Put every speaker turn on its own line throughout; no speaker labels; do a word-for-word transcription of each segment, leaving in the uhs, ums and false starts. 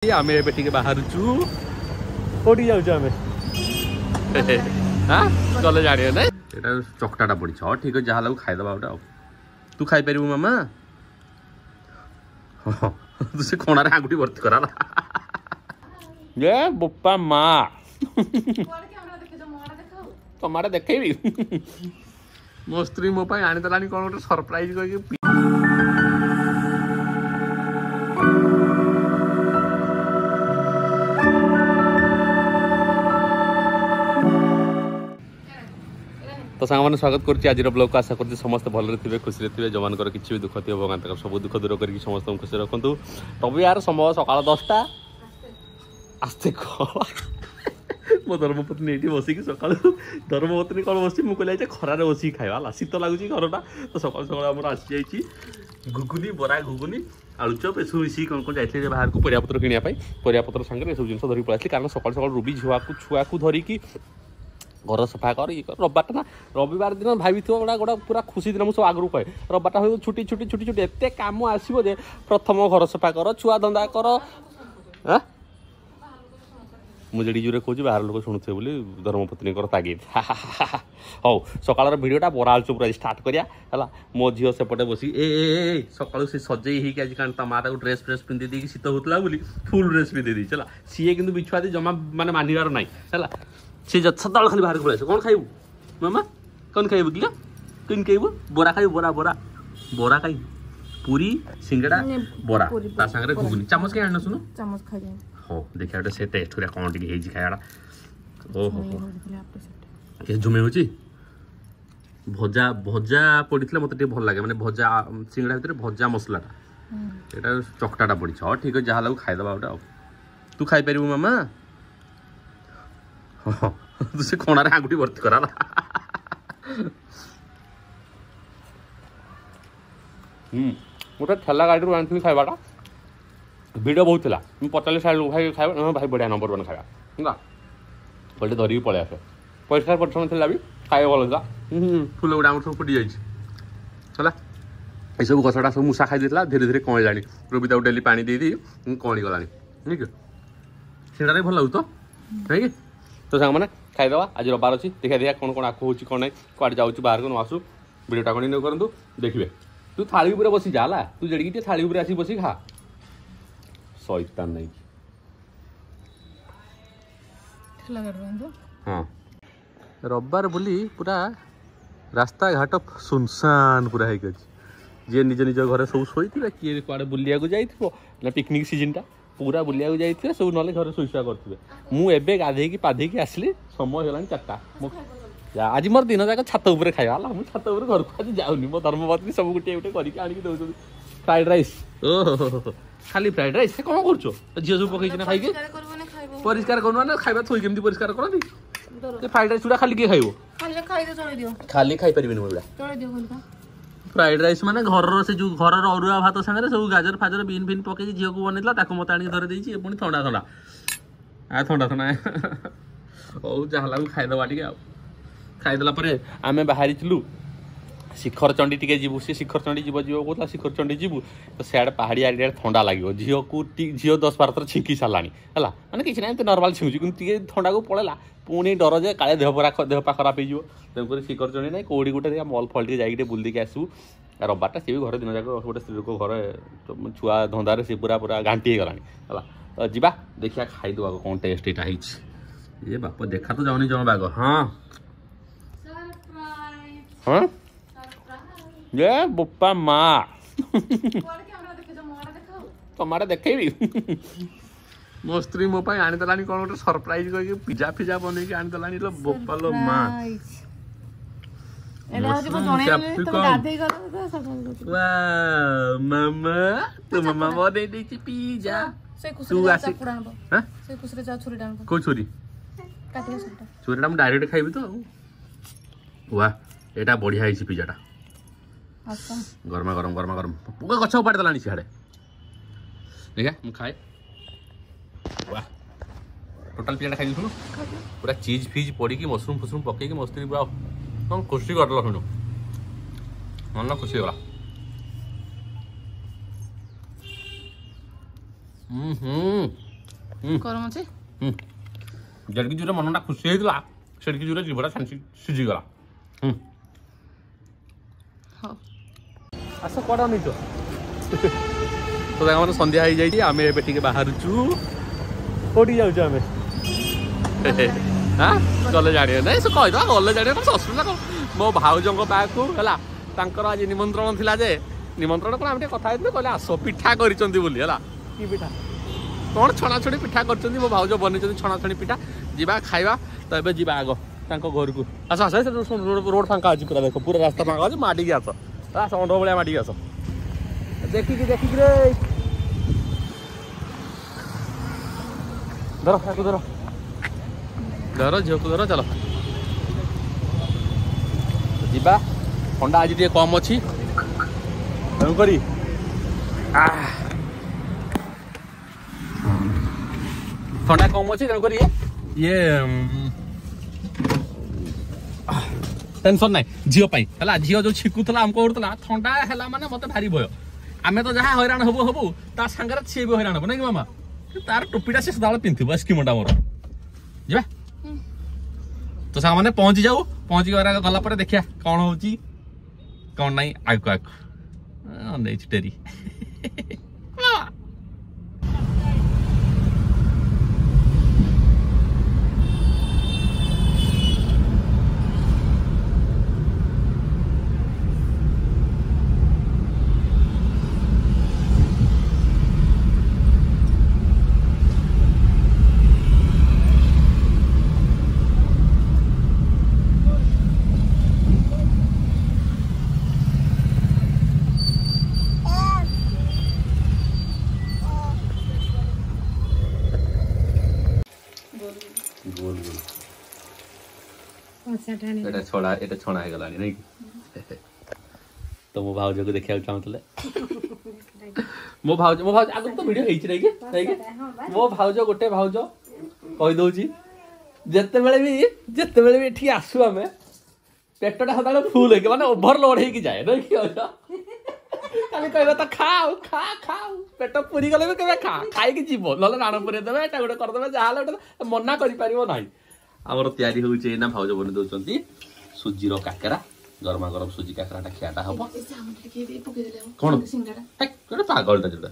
ଆମେ ଏବେ ଟିକେ ବାହାରୁଛୁ। କୋଉଠି ଯାଉଛୁ ଆମେ? ହଁ, ଗଲେ ଜାଣିବ। ନାଇଁ, ଏଇଟା ଚକଟାଟା ପଡ଼ିଛି। ହଁ, ଠିକ ଅଛି, ଯାହା ଲାଗୁ ଖାଇଦବା ଗୋଟେ। ଆଉ ତୁ ଖାଇପାରିବୁ ମାମା? ହଁ, ତୁ ସେ କଣାରେ ଆଙ୍ଗୁଠି ଭର୍ତ୍ତି କରା ଏ ବୋପା ମା। ତମ ଆଡ଼େ ଦେଖେଇବି। ମୋ ସ୍ତ୍ରୀ ମୋ ପାଇଁ ଆଣିଦେଲାଣି କ'ଣ ଗୋଟେ ସରପ୍ରାଇଜ କହିକି। ତ ସାଙ୍ଗମାନେ, ସ୍ୱାଗତ କରୁଛି ଆଜିର ବ୍ଲଗ୍କୁ। ଆଶା କରୁଛି ସମସ୍ତେ ଭଲରେ ଥିବେ, ଖୁସିରେ ଥିବେ। ଯେଉଁମାନଙ୍କର କିଛି ବି ଦୁଃଖ ଥିବ, ଭଗବାନ ତାଙ୍କର ସବୁ ଦୁଃଖ ଦୂର କରିକି ସମସ୍ତଙ୍କୁ ଖୁସିରେ ରଖନ୍ତୁ। ରବିବାର, ସମୟ ସକାଳ ଦଶଟା। ଆସ୍ତେ କହ। ମୋ ଧର୍ମପତ୍ନୀ ଏଇଠି ବସିକି ସକାଳୁ, ଧର୍ମପତ୍ନୀ କ'ଣ ବସିଛି, ମୁଁ କହିଲି ଆଜି ଖରାରେ ବସିକି ଖାଇବା ହେଲା, ଶୀତ ଲାଗୁଛି ଘରଟା। ତ ସକାଳୁ ସକାଳୁ ଆମର ଆସିଯାଇଛି ଘୁଗୁନି, ବରା ଘୁଗୁନି, ଆଳୁଚପ ଏସବୁ ମିଶିକି। କ'ଣ କ'ଣ ଯାଇଥିଲି ବାହାରକୁ ପରିବାପତ୍ର କିଣିବା ପାଇଁ, ପରିବାପତ୍ର ସାଙ୍ଗରେ ଏସବୁ ଜିନିଷ ଧରିକି ପଳେଇ ଆସିଲି। କାରଣ ସକାଳୁ ସକାଳୁ ରୁବି ଝୁଆକୁ ଛୁଆକୁ ଧରିକି ଘର ସଫା କର, ଇଏ କର। ରବିବାରଟା ନା, ରବିବାର ଦିନ ଭାବିଥିବ ଗୋଟା ଗୋଟା ପୁରା ଖୁସି ଦିନ। ମୁଁ ସବୁ ଆଗରୁ କହେ, ରବିବାରଟା ହଉ ଛୁଟି ଛୁଟି ଛୁଟି ଛୁଟି, ଏତେ କାମ ଆସିବ ଯେ ପ୍ରଥମ ଘର ସଫା କର, ଛୁଆ ଧନ୍ଦା କର। ଆଁ, ମୁଁ ଯେଠି ଜୋରେ କହୁଛି ବାହାର ଲୋକ ଶୁଣୁଥିବେ ବୋଲି ଧର୍ମପତ୍ନୀଙ୍କର ତାଗିଦ। ହଉ, ସକାଳର ଭିଡ଼ିଓଟା ବରା ଆଳୁଚପ ଆଜି ଷ୍ଟାର୍ଟ କରିବା ହେଲା। ମୋ ଝିଅ ସେପଟେ ବସିକି ଏ ଏ ଏ ସକାଳୁ ସେ ସଜେଇ ହେଇକି ଆଜି, କାରଣ ତା ମା ତାକୁ ଡ୍ରେସ୍ ଫ୍ରେସ୍ ପିନ୍ଧି ଦେଇକି, ଶୀତ ହେଉଥିଲା ବୋଲି ଫୁଲ୍ ଡ୍ରେସ୍ ପିନ୍ଧି ଦେଇଛି ହେଲା। ସିଏ କିନ୍ତୁ ବିଛୁଆତି ଜମା ମାନେ ମାନିବାର ନାହିଁ ହେଲା। ସେ ସଦାବେଳେ ଖାଲି ବାହାରକୁ ପଳେଇ ଆସିବ। କ'ଣ ଖାଇବୁ ମାମା? କ'ଣ ଖାଇବୁ କିଲୋ? କ'ଣ ଖାଇବୁ? ବରା ଖାଇବୁ? ବରା ବରା ବରା ଖାଇବୁ? ପୁରୀ, ସିଙ୍ଗଡ଼ା, ବରା, ତା ସାଙ୍ଗରେ ଘୁଗୁନି। ଚାମଚ କାଇଁ ଆଣିନ ଶୁଣୁ?
ଚାମଚ ଖାଇ।
ହଉ, ଦେଖିବା ଗୋଟେ ସେ ଟେଷ୍ଟ କରିବା କ'ଣ ଟିକେ ହେଇଛି ଖାଇବାଟା। ଓହୋ, ଝୁମେଇ ହେଉଛି। ଭଜା ଭଜା ପଡ଼ିଥିଲେ ମୋତେ ଟିକେ ଭଲ ଲାଗେ, ମାନେ ଭଜା ସିଙ୍ଗଡ଼ା ଭିତରେ ଭଜା ମସଲାଟା। ଏଇଟା ଚକଟାଟା ପଡ଼ିଛି। ହଁ, ଠିକ୍ ଅଛି, ଯାହା ଲାଗୁ ଖାଇଦେବା ଗୋଟେ। ଆଉ ତୁ ଖାଇପାରିବୁ ମାମା? ହଁ, ତୁ ସେ କଣାରେ ଆଙ୍ଗୁଠି ଭର୍ତ୍ତି କରା। ହୁଁ, ଗୋଟେ ଠେଲା ଗାଡ଼ିରୁ ଆଣିଥିଲି ଖାଇବାଟା, ଭିଡ଼ ବହୁତ ଥିଲା। ମୁଁ ପଚାରିଲି ସାଇଡ଼ ଭାଇ, ଖାଇବା ଭାଇ ବଢ଼ିଆ, ନମ୍ବର ୱାନ୍ ଖାଇବା ହେଲା। କହିଲେ ଧରିକି ପଳେଇ ଆସେ। ପରିଷ୍କାର ପରିଚ୍ଛନ୍ନ ଥିଲା ବି, ଖାଇବା ଭଲ ଥିଲା। ଫୁଲ ଗୁଡ଼ା ଆମର ସବୁ ଫୁଟି ଯାଇଛି ହେଲା। ଏସବୁ ଗଛଟା ସବୁ ମୂଷା ଖାଇ ଦେଇଥିଲା, ଧୀରେ ଧୀରେ କଅଁଳିଲାଣି। ରୁବି ତାକୁ ଡେଲି ପାଣି ଦେଇ ଦେଇ କଅଁଳି ଗଲାଣି। ନାଇଁ କି ସେଇଟା ବି ଭଲ ଲାଗୁଛି ତ ନାଇଁ କି? ତ ସାଙ୍ଗମାନେ, ଖାଇଦେବା। ଆଜି ରବିବାର ଅଛି, ଦେଖିବା ଦେଖିବା କ'ଣ କ'ଣ ଆକୁ ହେଉଛି, କ'ଣ ନାହିଁ, କୁଆଡ଼େ ଯାଉଛୁ ବାହାରକୁ ନ ଆସୁ। ଭିଡ଼ିଓଟା କଣ୍ଟିନ୍ୟୁ କରନ୍ତୁ, ଦେଖିବେ। ତୁ ଥାଳି ଉପରେ ବସି ଯା ହେଲା, ତୁ ଯେଡ଼ିକି ଟିକେ ଥାଳି ଉପରେ ଆସିକି ବସିକି ଖା। ଶୈତାନ ନାଇକି। ହଁ, ରବିବାର ବୋଲି ପୁରା ରାସ୍ତାଘାଟ ସୁନସାନ ପୁରା ହେଇକି ଅଛି। ଯିଏ ନିଜ ନିଜ ଘରେ ସବୁ ଶୋଇଥିବେ, କିଏ କୁଆଡ଼େ ବୁଲିବାକୁ ଯାଇଥିବ ନା, ପିକନିକ୍ ସିଜନଟା, ପୁରା ବୁଲିବାକୁ ଯାଇଥିବେ ସବୁ, ନହେଲେ ଘରେ ଶୋଇଶୁଆ କରୁଥିବେ। ମୁଁ ଏବେ ଗାଧେଇକି ପାଧେଇକି ଆସିଲି, ସମୟ ହେଇଗଲାଣି ଚାରିଟା। ମୁଁ ଆଜି ମୋର ଦିନ ଯାକ ଛାତ ଉପରେ ଖାଇବା ହେଲା। ମୁଁ ଛାତ ଉପରେ, ଘରକୁ ଆଜି ଯାଉନି। ମୋ ଧର୍ମପତ୍ନୀ ସବୁ ଗୋଟିଏ ଗୋଟିଏ କରିକି ଆଣିକି ଦେଉଛନ୍ତି। ଫ୍ରାଇଡ୍ ରାଇସ୍, ଓହୋ, ଖାଲି ଫ୍ରାଇଡ୍ ରାଇସ୍। ସେ କ'ଣ କରୁଛ? ଝିଅ ସବୁ ପକେଇଛି ନା ଖାଇକି। ପରିଷ୍କାର କରୁନ ନା, ଖାଇବା ଥୋଇ କେମିତି ପରିଷ୍କାର କରନ୍ତି? ସେ ଫ୍ରାଇଡ୍ ରାଇସ୍ ଗୁଡ଼ା ଖାଲି କିଏ ଖାଇବ? ଖାଲି ଖାଇପାରିବିନି ମୁଁ ଏଗୁଡ଼ା। ଫ୍ରାଇଡ୍ ରାଇସ୍ ମାନେ ଘରର ସେ ଯୋଉ ଘରର ଅରୁଆ ଭାତ ସାଙ୍ଗରେ ସବୁ ଗାଜର ଫାଜର ବିନ୍ ଫିନ୍ ପକେଇକି ଝିଅକୁ ବନେଇଥିଲା, ତାକୁ ମତେ ଆଣିକି ଧରି ଦେଇଛି। ପୁଣି ଥଣ୍ଡା ଥଣ୍ଡା, ଆ ଥଣ୍ଡା ଥଣ୍ଡା। ହଉ, ଯାହା ଲାଗୁ ଖାଇଦେବା ଟିକେ। ଆଉ ଖାଇଦେଲା ପରେ ଆମେ ବାହାରିଥିଲୁ ଶିଖର ଚଣ୍ଡୀ ଟିକେ ଯିବୁ। ସେ ଶିଖର ଚଣ୍ଡୀ ଯିବ ଯିବ କହୁଥିଲା, ଶିଖର ଚଣ୍ଡୀ ଯିବୁ ତ ସିଆଡ଼େ ପାହାଡ଼ିଆ ଏରିଆରେ ଥଣ୍ଡା ଲାଗିବ ଝିଅକୁ। ଝିଅ ଦଶ ବାର ଥର ଛିଙ୍କି ସାରିଲାଣି ହେଲା, ମାନେ କିଛି ନାହିଁ, ଏମିତି ନର୍ମାଲ ଛିଙ୍କୁଛି, କିନ୍ତୁ ଟିକେ ଥଣ୍ଡାକୁ ପଳେଇଲା। ପୁଣି ଡର ଯେ କାଳେ ଦେହ ପରା ଦେହ ପା ଖରାପ ହେଇଯିବ। ତେଣୁକରି ଶିଖର ଚଣ୍ଡୀ ନାହିଁ, କେଉଁଠି ଗୋଟେ ଦେଖିବା ମଲ୍ ଫଲ୍ ଟିକେ ଯାଇକି ଟିକେ ବୁଲିକି ଆସିବୁ। ରବିବାରଟା ସିଏ ବି ଘରେ ଦିନ ଯାକ, ଗୋଟେ ସ୍ତ୍ରୀ ଲୋକ ଘରେ ଛୁଆ ଧନ୍ଦାରେ ସେ ପୁରା ପୁରା ଘାଣ୍ଟି ହେଇଗଲାଣି ହେଲା। ତ ଯିବା ଦେଖିବା, ଖାଇଦେବା କ'ଣ ଟେଷ୍ଟ ଏଇଟା ହେଇଛି। ଏ ବାପ, ଦେଖା ତ ଯାଉନି ଜମା ବାଗ। ହଁ ହଁ, ଏ ବୋପା ମା। ତମ ଆଡ଼େ ଦେଖେଇବି। ମୋ ସ୍ତ୍ରୀ ମୋ ପାଇଁ ଆଣିଦେଲାଣି କ'ଣ ଗୋଟେ ସରପ୍ରାଇଜ କହିକି, ପିଜା ଫିଜା ବନେଇକି ଆଣିଦେଲାଣି ଲୋ ବୋପା ଲୋ ମା। ମାମା, ତୋ ମାମା ବନେଇ ଦେଇଛି ପିଜା। ତୁ ଆସି କୋଉ ଛୁରୀ? ଛୁରୀଟା ମୁଁ ଡାଇରେକ୍ଟ ଖାଇବି ତ। ୱା, ଏଇଟା ବଢିଆ ହେଇଛି ପିଜାଟା, ଗରମା ଗରମ ଗରମା ଗରମ। ପୁରା ଗଛ ଉପାଡ଼ି ଦେଲାଣି ସିଆଡ଼େ। ଦେଖିଆ ମୁଁ ଖାଏ। ୱା, ଟୋଟାଲ ପିଜାଟା ଖାଇବି ଶୁଣୁ। ପୁରା ଚିଜ୍ ଫିଜ୍ ପଡ଼ିକି, ମସରୁମ୍ ଫସରୁମ୍ ପକେଇକି ମସ୍ତି ପୁରା କ'ଣ ଖୁସି କରିଦେଲା ଶୁଣୁ, ମନ ଖୁସି ହେଇଗଲା। ହୁଁ ହୁଁ,
ଗରମ ଅଛି।
ଯେତିକି ଜୋରେ ମନଟା ଖୁସି ହେଇଥିଲା ସେତିକି ଜୋରେ ଜିଭଟା ସିଝିଗଲା।
ହଉ
ଆସ, କୁଆଡ଼େ ଅନେଇଛ? ତ ସାଙ୍ଗମାନେ ସନ୍ଧ୍ୟା ହେଇଯାଇଛି, ଆମେ ଏବେ ଟିକେ ବାହାରୁଛୁ। କୋଉଠି ଯାଉଛୁ ଆମେ? ହଁ ଗଲେ ଜାଣିବ। ନାଇଁ ସେ କହିଦେବା, ଗଲେ ଜାଣିବ, ଅସୁବିଧା କ'ଣ? ମୋ ଭାଉଜଙ୍କ ପାଖକୁ ହେଲା, ତାଙ୍କର ଆଜି ନିମନ୍ତ୍ରଣ ଥିଲା ଯେ, ନିମନ୍ତ୍ରଣ କ'ଣ, ଆମେ ଟିକେ କଥା ହେଇଥିଲୁ, କହିଲେ ଆସ, ପିଠା କରିଛନ୍ତି ବୋଲି। ହେଲା କି ପିଠା କ'ଣ, ଛଣାଛଣି ପିଠା କରିଛନ୍ତି, ମୋ ଭାଉଜ ବନେଇଛନ୍ତି ଛଣାଛଣି ପିଠା। ଯିବା ଖାଇବା। ତ ଏବେ ଯିବା ଆଗ ତାଙ୍କ ଘରକୁ। ଆସ ଆସ, ରୋଡ଼ ଫାଙ୍କା ଅଛି ପୁରା, ଦେଖ ପୁରା ରାସ୍ତା ଫାଙ୍କା ଅଛି, ମାଡ଼ିକି ଆସ। ଆସ, ଷଣ୍ଢ ଭଳିଆ ମାଡ଼ିକି ଆସ, ଦେଖିକି ଦେଖିକି ରେ। ଧର ତାକୁ, ଧର ଧର, ଝିଅକୁ ଧର, ଚାଲ ଯିବା। ଥଣ୍ଡା ଆଜି ଟିକେ କମ୍ ଅଛି, ତେଣୁକରି ଥଣ୍ଡା କମ୍ ଅଛି, ତେଣୁକରି ଇଏ ଟେନସନ୍ ନାହିଁ ଝିଅ ପାଇଁ। ହେଲା ଝିଅ ଯୋଉ ଛିକୁଥିଲା, ଆମକୁ କରୁଥିଲା, ଥଣ୍ଡା ହେଲା ମାନେ ମତେ ଭାରି ଭୟ। ଆମେ ତ ଯାହା ହଇରାଣ ହବୁ ହବୁ, ତା ସାଙ୍ଗରେ ସିଏ ବି ହଇରାଣ ହବ, ନାଇଁ କି ମାମା? ତାର ଟୋପିଟା ସେ ସଦାବେଳେ ପିନ୍ଧିବ, ଏସ୍କିମୋଟା ମୋର। ଯିବା ତ ସାଙ୍ଗମାନେ, ପହଞ୍ଚି ଯାଉ। ପହଞ୍ଚି ଗଲା ପରେ ଦେଖିବା କ'ଣ ହଉଛି କ'ଣ ନାହିଁ ଆଗକୁ ଆଗକୁ। ଅନେଇଛି ଟେରି। ଗୋଲ ଗୋଲ ଏଟା ଛଣା, ଏଟା ଛଣା ହେଇଗଲାଣି ନାଇଁ କି? ତ ମୋ ଭାଉଜକୁ ଦେଖିବାକୁ ଚାହୁଁଥିଲେ। ମୋ ଭାଉଜ, ମୋ ଭାଉଜ ଆଗରୁ ତ ଭିଡ଼ିଓ ହେଇଛି ନାଇଁ କି? ନାଇଁ କି? ମୋ ଭାଉଜ ଗୋଟେ ଭାଉଜ କହିଦଉଛି, ଯେତେବେଳେ ବି ଯେତେବେଳେ ବି ଏଠିକି ଆସୁ ଆମେ, ପେଟଟା ସଦାବେଳେ ଫୁଲ ହେଇକି, ମାନେ ଓଭରଲୋଡ ହେଇକି ଯାଏ, ନାଇଁ କି? ଖାଲି କହିବ ତ ଖାଉ ଖା ଖାଉ, ପେଟ ପୁରି ଗଲେ ବି କେବେ ଖା, ଖାଇକି ଯିବ, ନହେଲେ ରାଣ ପୁରେଇ ଦେବେ, ଏଟା ଗୋଟେ କରିଦେବେ, ଯାହାହେଲେ ଗୋଟେ ମନା କରିପାରିବ ନାହିଁ। ଆମର ତିଆରି ହଉଛି ଏଇନା, ଭାଉଜ ବନେଇ ଦଉଛନ୍ତି ସୁଜିର କାକରା। ଗରମା ଗରମ ସୁଜି କାକରାଟା ଖିଆଟା ହବ। କଣ ଗୋଟେ ପାଗଳଟା ଯୋଉଟା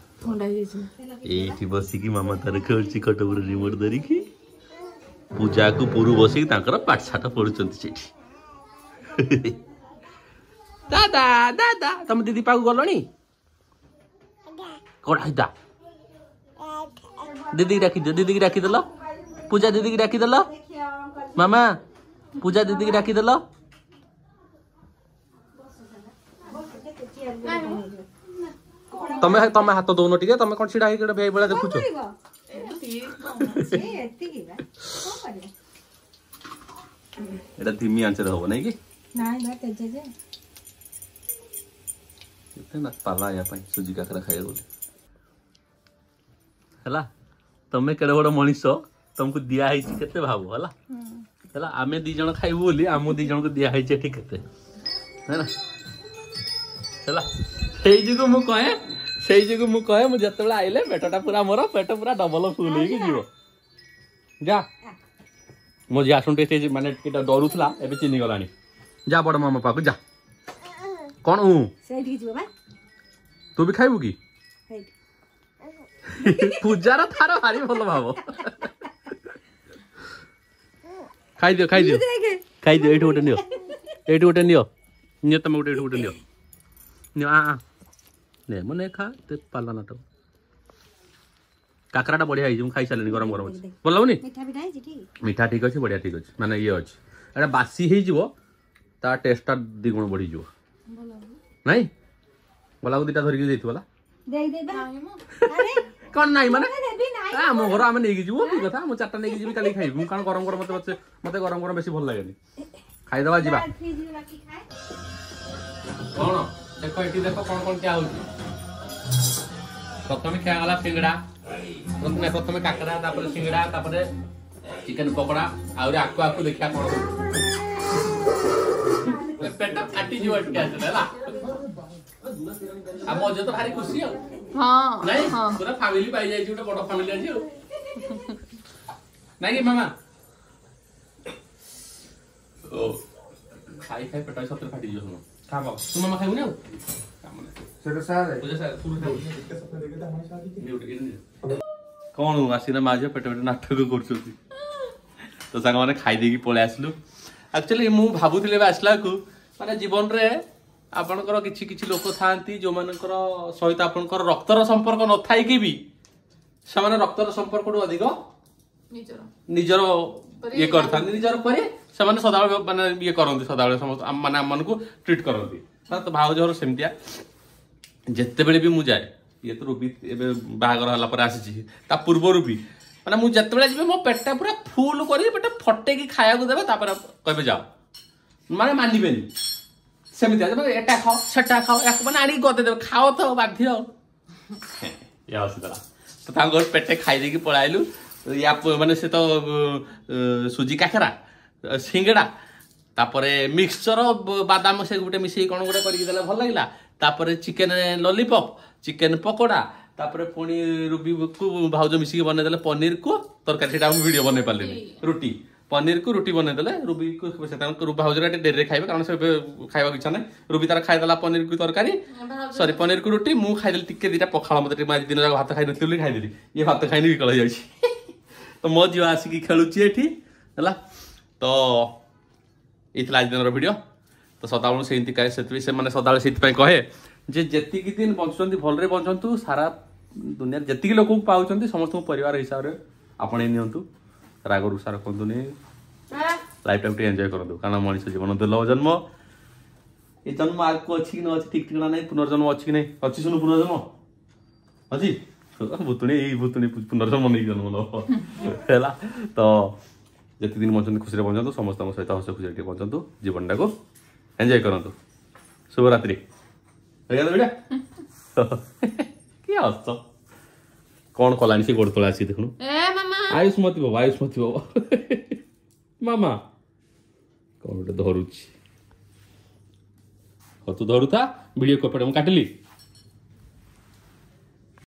ଏଇଠି ବସିକି ମାମା ତାର ଖେଳୁଛି ଖଟ ଉପରେ ରିମୋଟ ଧରିକି, ପୂଜାକୁ ପୁରୁ ବସିକି ତାଙ୍କର ପାଠଶାଠ ପଢୁଛନ୍ତି ସେଇଠି। ଦାଦା ଦାଦା, ତମ ଦିଦି ପାଖକୁ ଗଲଣି? କଣ ହେଇତା? ଦିଦିକି ଡାକିଦିଅ, ଦିଦିକି ଡାକିଦେଲ, ପୂଜା ଦିଦିକି ଡାକିଦେଲ, ମାମା ପୂଜା ଦିଦିକି ଡାକିଦେଲ। ତମେ ତମେ ହାତ ଦଉନ ଟିକେ, ତମେ କଣ ଛିଡା ହେଇକି ଗୋଟେ ଭାଇ ଭଳିଆ ଦେଖୁଛ? ଏଟା ଧିମି ଆଞ୍ଚରେ ହବ ନାଇଁ କି? କେତେ ନା ପାଲା ୟା ପାଇଁ ସୁଜି କାକରା ଖାଇବାକୁ ହେଲା। ତମେ କେଡ଼େ ବଡ଼ ମଣିଷ, ତମକୁ ଦିଆ ହେଇଛି କେତେ ଭାବ। ହେଲା ହେଲା, ଆମେ ଦି ଜଣ ଖାଇବୁ ବୋଲି ଆମ ଦି ଜଣକୁ ଦିଆ ହେଇଛି ଏଠି କେତେ, ହେଲା ହେଲା। ସେଇ ଯୋଗୁ ମୁଁ କହେ, ସେଇ ଯୋଗୁ ମୁଁ କହେ, ମୁଁ ଯେତେବେଳେ ଆଇଲେ ପେଟଟା ପୁରା, ମୋର ପେଟ ପୁରା ଡବଲ ଫୁଲ ହେଇକି ଯିବ। ଯା, ମୋ ଝିଅ ଆସୁନ ଟିକେ, ମାନେ ଟିକେ ଡରୁଥିଲା, ଏବେ ଚିହ୍ନି ଗଲାଣି। ଯା ବଡ ମାମା ପାଖକୁ ଯା। କଣ ତୁ ବି ଖାଇବୁ କି? ପୂଜାର ତାର ଭାରି ଭଲ ଭାବ। ଖାଇଦିଅ ଖାଇଦିଅ ଖାଇଦିଅ, ଏଇଠି ଗୋଟେ ନିଅ, ଏଇଠି ଗୋଟେ ନିଅ, ନିଅ ତମେ ଗୋଟେ, ଏଇଠି ଗୋଟେ ନିଅ, ନିଅ। ଆ ନେ ମୁଁ ନେ, ଖା ପାଲା ନାଟକ। କାକରାଟା ବଢିଆ ହେଇଛି, ମୁଁ ଖାଇସାରିଲିଣି, ଗରମ ଗରମ ଅଛି। ଭଲ ଲାଗୁନି? ମିଠା ଠିକ ଅଛି, ବଢିଆ ଠିକ ଅଛି, ମାନେ ଇଏ ଅଛି। ଏଇଟା ବାସି ହେଇଯିବ, ତା ଟେଷ୍ଟଟା ଦ୍ୱିଗୁଣ ବଢିଯିବ। ନାଇଁ ଗଲାକୁ ଦିଟା ଧରିକି ଦେଇଥିବ ହେଲା। କଣ ନାଇଁ ମାନେ ଆମ ଘର ଆମେ ନେଇକି ଯିବୁ, କି କଥା? ମୁଁ ଚାରିଟା ନେଇକି ଯିବି, କାଲି ଖାଇବି ମୁଁ, କାରଣ ଗରମ ଗରମ ମତେ ମତେ ଗରମ ଗରମ ବେଶୀ ଭଲ ଲାଗେନି। ଖାଇଦବା ଯିବା। କଣ ଦେଖ ଏଠି ଦେଖ କଣ କଣ ଖିଆ ହଉଛି। ପ୍ରଥମେ ଖିଆ ଗଲା ସିଙ୍ଗଡ଼ା, ପ୍ରଥମେ ପ୍ରଥମେ କାକରା, ତାପରେ ସିଙ୍ଗଡ଼ା, ତାପରେ ଚିକେନ ପକୋଡା। ଆହୁରି ଆକୁ ଆକୁ ଦେଖିବା କଣ ହଉଛି। ପେଟ ଫାଟିଯିବ ଏଠି ଆସିଲେ ହେଲା। ଆମ ଅଜୟ ତ ଭାରି ଖୁସି ଆଉ, ନାଇଁ ପୁରା ଫ୍ୟାମିଲି ପାଇଯାଇଛି, ଗୋଟେ ବଡ ଫ୍ୟାମିଲି ଆଜି ଆଉ। ନାଇଁ କି ମାମା? ଓ ଖାଇ ଖାଇ ପେଟ ସତରେ ଫାଟିଯିବ। ଶୁଣ, ଖା ବାବା। ତୁ ମାମା ଖାଇବୁନି ଆଉ କାମ ନାହିଁ।
ସେଟା ସାର୍
ପୂଜା ସାର୍, କଣ ଆସିନା ମା ଝିଅ ପେଟ ପେଟ ନାଟକ କରୁଛନ୍ତି। ତ ସାଙ୍ଗମାନେ, ଖାଇ ଦେଇକି ପଳେଇ ଆସିଲୁ। ଆକ୍ଚୁଆଲି ମୁଁ ଭାବୁଥିଲି ଏବେ ଆସିଲାକୁ, ମାନେ ଜୀବନରେ ଆପଣଙ୍କର କିଛି କିଛି ଲୋକ ଥାଆନ୍ତି ଯୋଉମାନଙ୍କର ସହିତ ଆପଣଙ୍କର ରକ୍ତର ସମ୍ପର୍କ ନଥାଇକି ବି ସେମାନେ ରକ୍ତର ସମ୍ପର୍କଠୁ ଅଧିକ
ନିଜର
ନିଜର ଇଏ କରିଥାନ୍ତି, ନିଜର ପରି ସେମାନେ ସଦାବେଳେ ମାନେ ଇଏ କରନ୍ତି, ସଦାବେଳେ ସମସ୍ତ ମାନେ ଆମମାନଙ୍କୁ ଟ୍ରିଟ୍ କରନ୍ତି। ତ ଭାଉଜ ଘର ସେମିତିଆ। ଯେତେବେଳେ ବି ମୁଁ ଯାଏ, ଇଏ ତ ରୁବି ଏବେ ବାହାଘର ହେଲା ପରେ ଆସିଛି, ତା ପୂର୍ବରୁ ବି ମାନେ ମୁଁ ଯେତେବେଳେ ଯିବି ମୋ ପେଟଟା ପୁରା ଫୁଲ କରିକି, ପେଟ ଫଟେଇକି ଖାଇବାକୁ ଦେବେ, ତାପରେ କହିବେ ଯାଅ। ମାନେ ମାନିବେନି ସେମିତି, ମାନେ ଏଟା ଖାଅ, ସେଟା ଖାଅ, ୟାକୁ ମାନେ ଆଣିକି ଗଦେଇ ଦେବେ, ଖାଅ ତ ବାଧ୍ୟ। ଇଏ ହସିଦେଲା। ତ ତାଙ୍କ ଘରୁ ପେଟେ ଖାଇ ଦେଇକି ପଳାଇଲୁ। ୟା ମାନେ ସେ ତ ସୁଜି କାକରା, ସିଙ୍ଗଡ଼ା, ତାପରେ ମିକ୍ସଚର, ବାଦାମ ସେ ଗୋଟେ ମିଶେଇ କ'ଣ ଗୋଟେ କରିକି ଦେଲେ, ଭଲ ଲାଗିଲା। ତାପରେ ଚିକେନ ଲଲିପପ୍, ଚିକେନ ପକୋଡ଼ା, ତାପରେ ପୁଣି ରୁବିକୁ ଭାଉଜ ମିଶିକି ବନେଇଦେଲେ ପନିରକୁ ତରକାରୀ। ସେଇଟା ମୁଁ ଭିଡ଼ିଓ ବନେଇ ପାରିଲିନି। ରୁଟି, ପନିରକୁ ରୁଟି ବନେଇଦେଲେ ରୁବିକୁ। ସେ ତାଙ୍କ ଭାଉଜର ଟିକେ ଡେରିରେ ଖାଇବେ, କାରଣ ସେ ଏବେ ଖାଇବାକୁ ଇଚ୍ଛା ନାହିଁ। ରୁବି ତାର ଖାଇଦେଲା ପନିରକୁ ତରକାରୀ, ସରି, ପନିରକୁ ରୁଟି। ମୁଁ ଖାଇଦେଲି ଟିକେ ଦିଟା ପଖାଳ। ମତେ ଟିକେ, ଆଜି ଦିନ ଯାକ ଭାତ ଖାଇନଥିଲି ବୋଲି ଖାଇଦେଲି। ଇଏ ଭାତ ଖାଇନି, ବିକଳ ହେଇଯାଉଛି। ତ ମୋ ଝିଅ ଆସିକି ଖେଳୁଛି ଏଠି। ହେଲା ତ, ଏଇ ଥିଲା ଆଜି ଦିନର ଭିଡ଼ିଓ। ତ ସଦାବେଳେ ସେମିତି ସେଥିପାଇଁ ସେମାନେ ସଦାବେଳେ ସେଇଥିପାଇଁ କହେ ଯେ ଯେତିକି ଦିନ ବଞ୍ଚୁଛନ୍ତି ଭଲରେ ବଞ୍ଚନ୍ତୁ। ସାରା ଦୁନିଆରେ ଯେତିକି ଲୋକଙ୍କୁ ପାଉଛନ୍ତି ସମସ୍ତଙ୍କୁ ପରିବାର ହିସାବରେ ଆପଣେଇ ନିଅନ୍ତୁ। ରାଗ ରୁଷା ରଖନ୍ତୁନି, ଲାଇଫଟାକୁ ଟିକେ ଏନ୍ଜୟ କରନ୍ତୁ, କାରଣ ମଣିଷ ଜୀବନ ଦୁର୍ଲଭ ଜନ୍ମ। ଏ ଜନ୍ମ ଆଗକୁ ଅଛି କି ନ ଅଛି ଠିକ ଠିକଣା ନାହିଁ। ପୁନର୍ଜନ୍ମ ଅଛି କି ନାହିଁ? ଅଛି ଶୁଣୁ, ପୁନର୍ଜନ୍ମ ଅଛି। ଭୂତୁଣୀ, ଏଇ ଭୂତୁଣୀ ପୁନର୍ଜନ୍ମ ନେଇକି ଜନ୍ମ ନବ। ହେଲା ତ, ଯେତିକି ଦିନ ବଞ୍ଚନ୍ତି ଖୁସିରେ ବଞ୍ଚନ୍ତୁ, ସମସ୍ତଙ୍କ ସହିତ ହସ ଖୁସିରେ ଟିକେ ବଞ୍ଚନ୍ତୁ, ଜୀବନଟାକୁ ଏନ୍ଜୟ କରନ୍ତୁ। ଶୁଭରାତ୍ରି। ହେଇଗଲା ଭିଡ଼ିଓ। କି ହସ କ'ଣ କଲାଣି ସେ ଗୋଡ଼ ତଳେ ଆସିକି ଦେଖୁନୁ।
ଏ ମାମା।
ଆୟୁଷ୍ମତି ବାବା, ଆୟୁଷ୍ମତି ବାବା। ମାମା କ'ଣ ଗୋଟେ ଧରୁଛି। ହଉ, ତୁ ଧରୁଥା ଭିଡ଼ିଓ କପଡ଼ା, ମୁଁ କାଟିଲି।